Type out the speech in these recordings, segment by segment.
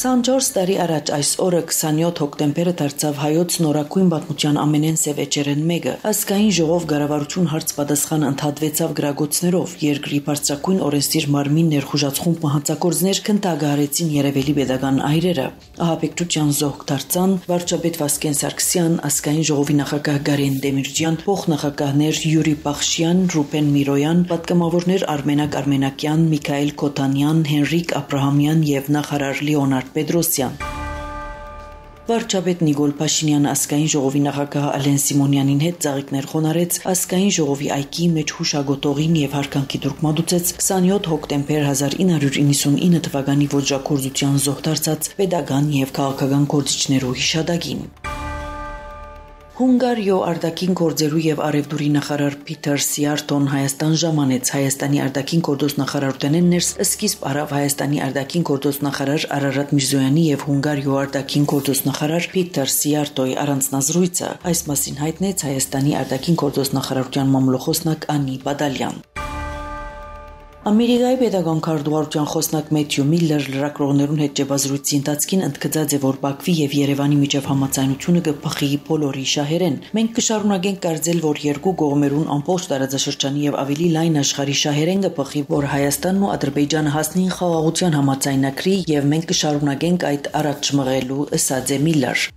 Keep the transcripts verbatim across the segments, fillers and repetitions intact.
քսանչորս տարի առաջ այս օրը քսանյոթ հոկտեմբերը դարձավ հայոց նորակույն պատմության ամենեն սև էջերեն մեկը։ Ազգային ժողով կառավարություն հարց պատասխան ընդհատվեցավ գրագոցներով, երկրի բարձրակույն օրենսդիր մարմին ներխուժացում մահացակորձներ քննադարեցին երևելի pedagogan այրերը։ Ահաբեկչության զոհք դարձան վարչապետ Վասկեն Սարգսյան, ազգային ժողովի նախագահ Գարեն Դեմիրճյան, փոխնախագահներ Յուրի Բախշյան, Ռուբեն Միրոյան, պատգամավորներ Արմենակ Արմենակյան, Միքայել Քոթանյան, Հենրիկ Աբրահամյան եւ նախարար Լեոնարդ Պետրոսյան։ Վարչապետ Նիկոլ Փաշինյանը ազգային ժողովի նախագահ Ալեն Սիմոնյանին հետ ծաղիկներ խոնարհեց ազգային ժողովի այգի մեջ հուշագոտողին եւ հարկանքի դուրք մատուցեց քսանյոթ հոկտեմբեր հազար ինը հարյուր իննսունինը թվականի ոճրագործության զոհ դարձած pedagogan եւ քաղաքական գործիչներու հիշադակին։ Հունգարիո արտաքին գործերու եւ արևդուրի նախարար Պիտեր Սիարտոն Հայաստան ժամանեց Հայաստանի արտաքին գործոս նախարարութենեն ներս սկիզբ արավ Հայաստանի արտաքին գործոս նախարար Արարատ Միրզոյանի եւ Հունգարիո արտաքին գործոս նախարար Պիտեր Սիարտոյի առանձնազրույցը այս մասին հայտնեց Հայաստանի արտաքին գործոս նախարարության մամլոխոսնակ Անի Բադալյան։ Ամերիկայի pedagogan քարտուղարության խոսնակ Մեթյու Միլլեր լրագրողներուն հետ ճեպազրույցի ընթացքին ընդգծած է, որ Բաքվի եւ Երևանի միջև համաձայնությունը կփխի բոլորի շահերեն։ Մենք կշարունակենք կարծել, որ երկու կողմերուն ամբողջ տարածաշրջանի եւ ավելի լայն աշխարհի շահերեն կփխի, որ Հայաստանն ու Ադրբեջանը հասնին խաղաղության համաձայնագրի եւ մենք կշարունակենք այդ առաջ մղելու, ըսած է Միլլեր։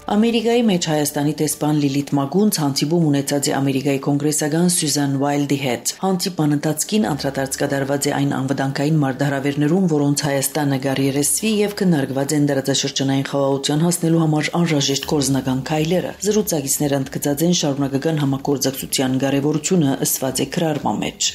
Ամերիկայի մեջ Հայաստանի տեսփան Լիլիթ Մագունց հանդիպում ունեցած է Ամերիկայի կոնգրեսական Սյուզան Ուայլդի հետ։ Հանդիպան ընթացքին անդրադարձ կատարված է այն անվտանգային մարտահրավերներուն, որոնց Հայաստանը գարիերեսվի եւ քննարկված են տարածաշրջանային խաղաղության հասնելու համար անհրաժեշտ գործնական քայլերը։ Զրուցակիցները ընդգծած են շարունակական համագործակցության կարեւորությունը, ըսված է քրարման մեջ։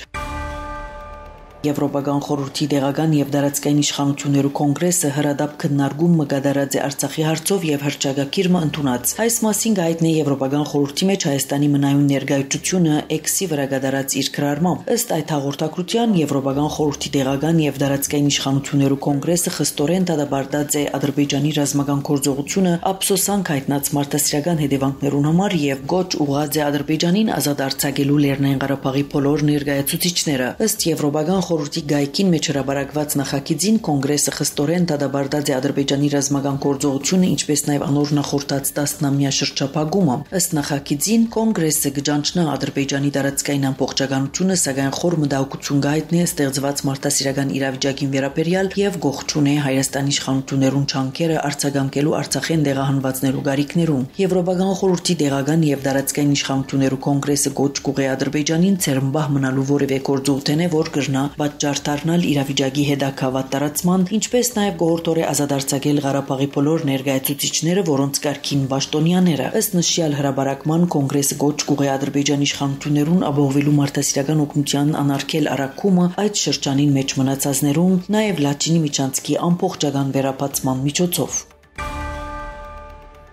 Եվրոպական խորհրդի դեղական եւ դարածքային իշխանություններու կոնգրեսը հրադապ քննարկում մգադարած է Արցախի հարցով եւ հրճագակիրը ընդունած։ Այս մասին գայտնի Եվրոպական խորհրդի մեջ Հայաստանի մնայուն ներկայացությունը Էքսի վրա գդարած իր քրարմամբ։ Ըստ այդ հաղորդակցության Եվրոպական խորհրդի դեղական եւ դարածքային իշխանություններու կոնգրեսը խստորեն դադարեցած է Ադրբեջանի ռազմական գործողությունը ափսոսանք հայտնած մարդասիրական հետևանքներուն համար եւ գոչ ուղղած է Ադրբեջանին ազատ արձակելու Լեռնային Ղարաբաղի բոլոր ներկայացուցիչները։ Ըստ Եվրոպական խորհրդի գայքին մեջ հրաբարակված նախագիծին կոնգրեսը խստորեն դադարեցած է Ադրբեջանի ռազմական գործողությունը, ինչպես նաև անոր նախորդած տասնամյա շրջափակումը։ Ըստ նախագիծին կոնգրեսը կճանչնա Ադրբեջանի տարածքային ամբողջականությունը, սակայն խոր մտահոգություն գայտնի է ստեղծված մարդասիրական իրավիճակին վերաբերյալ եւ գողջունե Հայաստանի իշխանություններուն չանքերը արձագանքելու Արցախեն դեղահանվածներու գարիկներուն։ Եվրոպական խորհրդի դեղական եւ դարածքային իշխանություններու կոնգրեսը գոչ կուղի Ադրբեջանին ցերմբահ մնալու որևէ գործողություն է, որ կրնա պատճառ դառնալ իրավիճակի հետագավատ տարածման, ինչպես նաև գողորտորե ազատ արձակել Ղարաբաղի բոլոր ներկայացուցիչները, որոնց կարգին պաշտոնյաները։ Ըստ նշյալ հրաբարակման կոնգրեսը գոչ կուղի Ադրբեջանի իշխանություններուն ապահովելու մարդասիրական օգնության անարգել առաքումը այդ շրջանին մեջ մնացածներուն, նաև Լաչինի միջանցքի ամբողջական վերապացման միջոցով։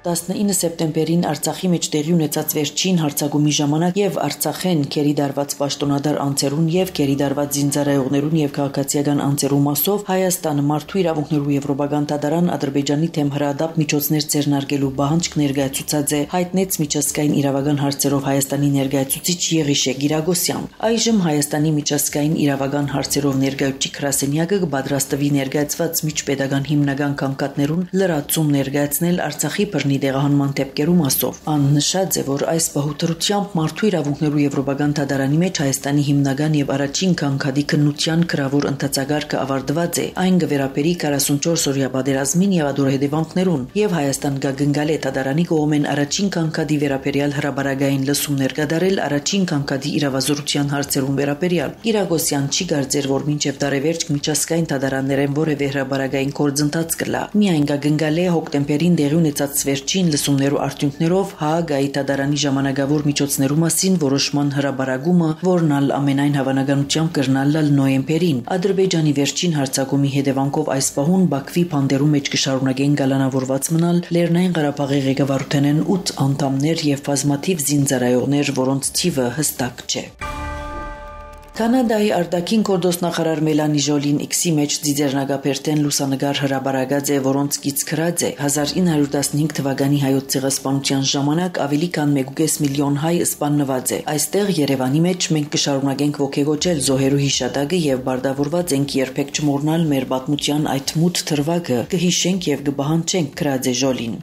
տասնինը սեպտեմբերին Արցախի մեջ տեղի ունեցած վերջին հարձակումի ժամանակ եւ Արցախեն քերի դարված պաշտոնադար անձերուն եւ քերի դարված զինծառայողներուն եւ քաղաքացիական անձերու մասով Հայաստանը մարդու իրավունքներու եվրոպական դատարան Ադրբեջանի թեմ հրադապ միջոցներ ձեռնարկելու բանջք ներկայացուցած է, հայտնեց միջազգային իրավական հարցերով Հայաստանի ներկայացուցիչ Եղիշե Գիրագոսյան։ Այժմ Հայաստանի միջազգային իրավական հարցերով ներկայացուցիչ գրասենյակը կպատրաստվի ներկայացված միջպետական հիմնական կանգատներուն լրացում ներկայացնել Արցախի բռնի դեղահանման դեպքերու մասով։ Ան նշած է, որ այս բահուտերությամբ մարդու իրավունքներու եվրոպական դատարանի մեջ Հայաստանի հիմնական եւ առաջին կանգադի քննության գրավոր ընթացագարկը ավարտված է։ Այն կվերապերի քառասունչորս օրյա պատերազմին եւ ադոր հետևանքներուն եւ Հայաստան կգնգալ է դատարանի կողմեն առաջին կանգադի վերապերյալ հրաբարագային լսումներ կատարել առաջին կանգադի իրավազորության հարցերուն վերապերյալ։ Գիրագոսյան չի կարծեր, որ մինչեւ տարեվերջ միջազգային դատարաններեն որևէ հրաբարագային գործընթաց կլա։ Միայն կգնգալ է հոկտեմբերին դեղի ունեցած վերջին լսումներու արդյունքներով Հաագայի դատարանի ժամանակավոր միջոցներու մասին որոշման հրաբարագումը, որն ալ ամենայն հավանականությամբ կրնալ նոյեմբերին։ Ադրբեջանի վերջին հարձակումի հետևանքով այս պահուն Բաքվի բանդերու մեջ կշարունակեն գալանավորված մնալ Լեռնային Ղարաբաղի ղեկավարութենեն ութ անդամներ եւ բազմաթիվ զինծառայողներ, որոնց թիվը հստակ չէ։ Կանադայի արտաքին գործոստ նախարար Մելանի Ժոլին X-ի մեջ ձիձեռնագափերտեն լուսանգար հրաբարագած է, որոնց կից քրած է հազար ինը հարյուր տասնհինգ թվականի հայոց ցեղասպանության ժամանակ ավելի քան մեկ կես միլիոն հայ սպաննված է։ Այստեղ Երևանի մեջ մենք կշարունակենք ոգեգոճել զոհերու հիշատակը եւ բարդավորված ենք երբեք չմոռնալ մեր պատմության այդ մութ թրվակը, կհիշենք եւ կբահանջենք, քրած է Ժոլին։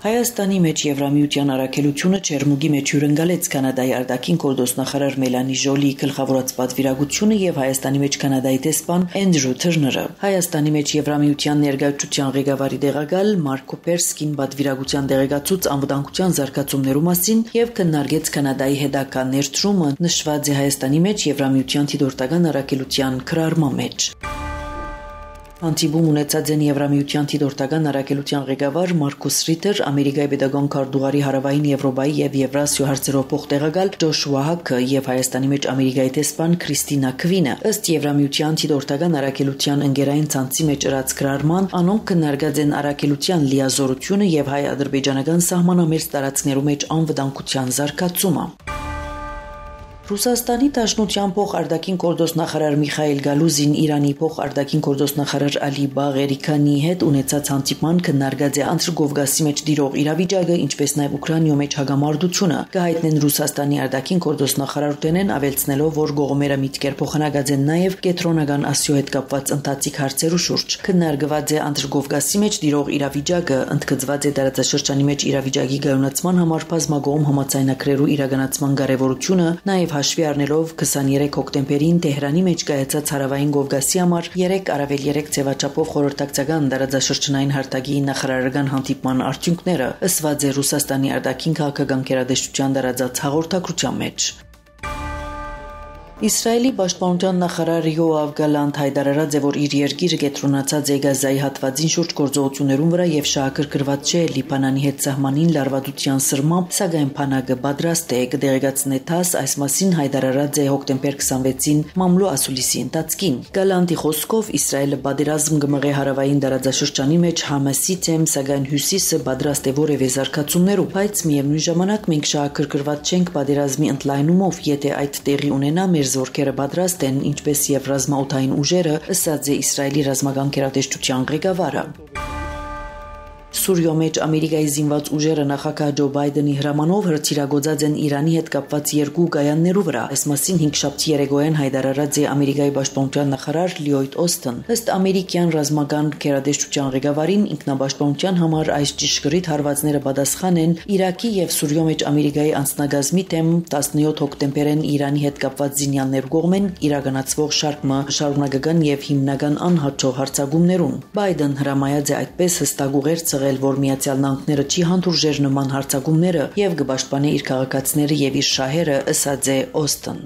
Հայաստանի մեջ Եվրամիության առաքելությունը Չերմուգի մեջ հյուրընկալեց Կանադայի արտաքին գործոստ նախարար Մելանի Ժոլիի գլխավորած պատվիրակությունը եւ Հայաստանի մեջ Կանադայի տեսփան Էնդրյու Թըրները։ Հայաստանի մեջ Եվրամիության ներկայացության ղեկավարի տեղակալ Մարկո Պերսկին պատվիրակության տեղեկացուց անվտանգության զարգացումներու մասին եւ քննարկեց Կանադայի հետագա ներդրումը, նշված է Հայաստանի մեջ Եվրամիության դիտորդական առաքելության քրարման մեջ։ Անտիբում ունեցած են Եվրամիության դիտորդական առաքելության ղեկավար Մարկուս Ռիտեր, Ամերիկայի պետական քարտուղարի Հարավային Եվրոպայի եւ Եվրասիա հարցերով փոխտեղակալ Ջոշուա Հաքը եւ Հայաստանի մեջ Ամերիկայի տեսփան Քրիստինա Քվինը։ Ըստ Եվրամիության դիտորդական առաքելության ընկերային ցանցի մեջ ըրած գրարման, անոնք քննարկած են առաքելության լիազորությունը եւ հայ-ադրբեջանական սահմանամերձ տարածքներու մեջ անվտանգության զարգացումը։ Ռուսաստանի Դաշնության փոխարտաքին գործոստ նախարար Միխայել Գալուզին Իրանի փոխարտաքին գործոստ նախարար Ալի Բաղերիքանի հետ ունեցած հանդիպման քննարկած է Անտրկովգասի մեջ դիրող իրավիճակը, ինչպես նաև Ուկրաինայի մեջ հագամարտությունը։ Կհայտնեն Ռուսաստանի արտաքին գործոստ նախարարութենեն, ավելցնելով, որ գողմերը միտքեր փոխանակած են նաև կենտրոնական Ասիո հետ կապված ընթացիկ հարցերու շուրջ։ Քննարկված է Անտրկովգասի մեջ դիրող իրավիճակը, ընդգծված է տարածաշրջանի մեջ իրավիճակի գայունացման համար բազմագոհ համաձայնագրերու իրականացման կարևորությունը, նաև հաշվի առնելով քսաներեք հոկտեմբերին Թեհրանի մեջ կայացած Հարավային Կովկասի համար երեք առավել երեք ձևաչափով խորհրդակցական տարածաշրջանային հարթակի նախարարական հանդիպման արդյունքները, ըսված է Ռուսաստանի արտաքին քաղաքական գերատեսչության տարածած հաղորդագրության մեջ։ Իսրայելի պաշտպանության նախարար Յոավ Գալանտ հայտարարած է, որ իր երկիրը կենտրոնացած է Գազայի հատվածին շուրջ գործողություններուն վրա եւ շահագրգռված չէ Լիբանանի հետ սահմանին լարվածության սրմամբ, սակայն բանակը պատրաստ է, կդեղեկացնե ԹԱՍ այս մասին հայտարարած է հոկտեմբեր քսանվեցին Մամլո Ասուլիսի ընթացքին։ Գալանտի խոսքով Իսրայելը պատերազմ կմղե հարավային տարածաշրջանի մեջ Համասի թեմ, սակայն հյուսիսը պատրաստ է որևէ զարգացումներու, բայց միևնույն ժամանակ մենք շահագրգռված չենք պատերազմի ընդլայնումով, եթե այդ տեղի ունենա մեր զորքերը պատրաստ են, ինչպես եւ ռազմաօդային ուժերը, ըսած է Իսրայելի ռազմական գերատեսչության ղեկավարը։ Սուրիո մեջ Ամերիկայի զինված ուժերը նախագահ Ջո Բայդենի հրամանով հրթիռագործած են Իրանի հետ կապված երկու կայաններու վրա։ Այս մասին հինգշաբթի երեկոյան հայտարարած է Ամերիկայի պաշտպանության նախարար Լյոյդ Օսթեն։ Ըստ ամերիկյան ռազմական գերատեսչության ղեկավարին, ինքնապաշտպանության համար այս ճշգրիտ հարվածները պատասխան են Իրաքի եւ Սուրիո մեջ Ամերիկայի անձնագազմի թեմ տասնյոթ հոկտեմբերին Իրանի հետ կապված զինյալներ կողմեն իրականացվող շարքը շարունակական եւ հիմնական անհաջող հարձակումներուն։ Բայդեն հրամայած է այդպես հստակ ուղեր ցղել, որ Միացյալ Նահանգները չի հանդուրժեր նման հարձակումները եւ կպաշտպանի իր քաղաքացիները եւ իր շահերը, ըսած է Օստեն։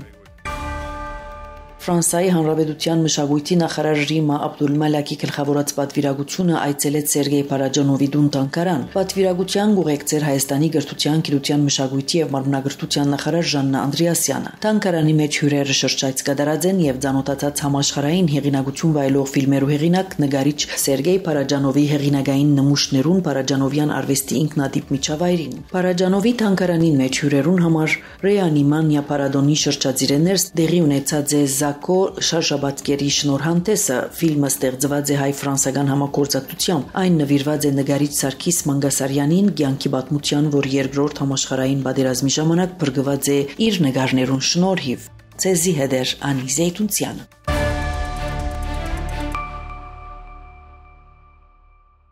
Ֆրանսիայի Հանրապետության մշակույթի նախարար Ռիմա Աբդուլմալակի գլխավորած պատվիրակությունը այցելեց Սերգեյ Փարաջանովի տուն Տանկարան։ Պատվիրակության ուղեկցեր Հայաստանի գրթության, գիտության, մշակույթի եւ մարմնագրթության նախարար Ժաննա Անդրեասյանը։ Տանկարանի մեջ հյուրերը շրջայց կատարած են եւ ցանոթացած համաշխարհային հեղինակություն վայելող ֆիլմերու հեղինակ նկարիչ Սերգեյ Փարաջանովի հեղինակային նմուշներուն Փարաջանովյան արվեստի ինքնատիպ միջավայրին։ Փարաջանովի Տանկարանին մեջ հյուրերուն համար Ռեանիմանիա Պարադոնի շրջածիրներս տեղի ունեցած է Կո շարժաբատկերի շնորհանդեսը ֆիլմը ստեղծված է հայ-ֆրանսական համագործակցությամբ։ Այն նվիրված է նկարիչ Սարգիս Մանգասարյանին, կյանքի պատմության, որ երկրորդ համաշխարհային պատերազմի ժամանակ բրգված է իր նկարներուն շնորհիվ։ Ցեզի հետ էր Անի Զեյթունցյանը։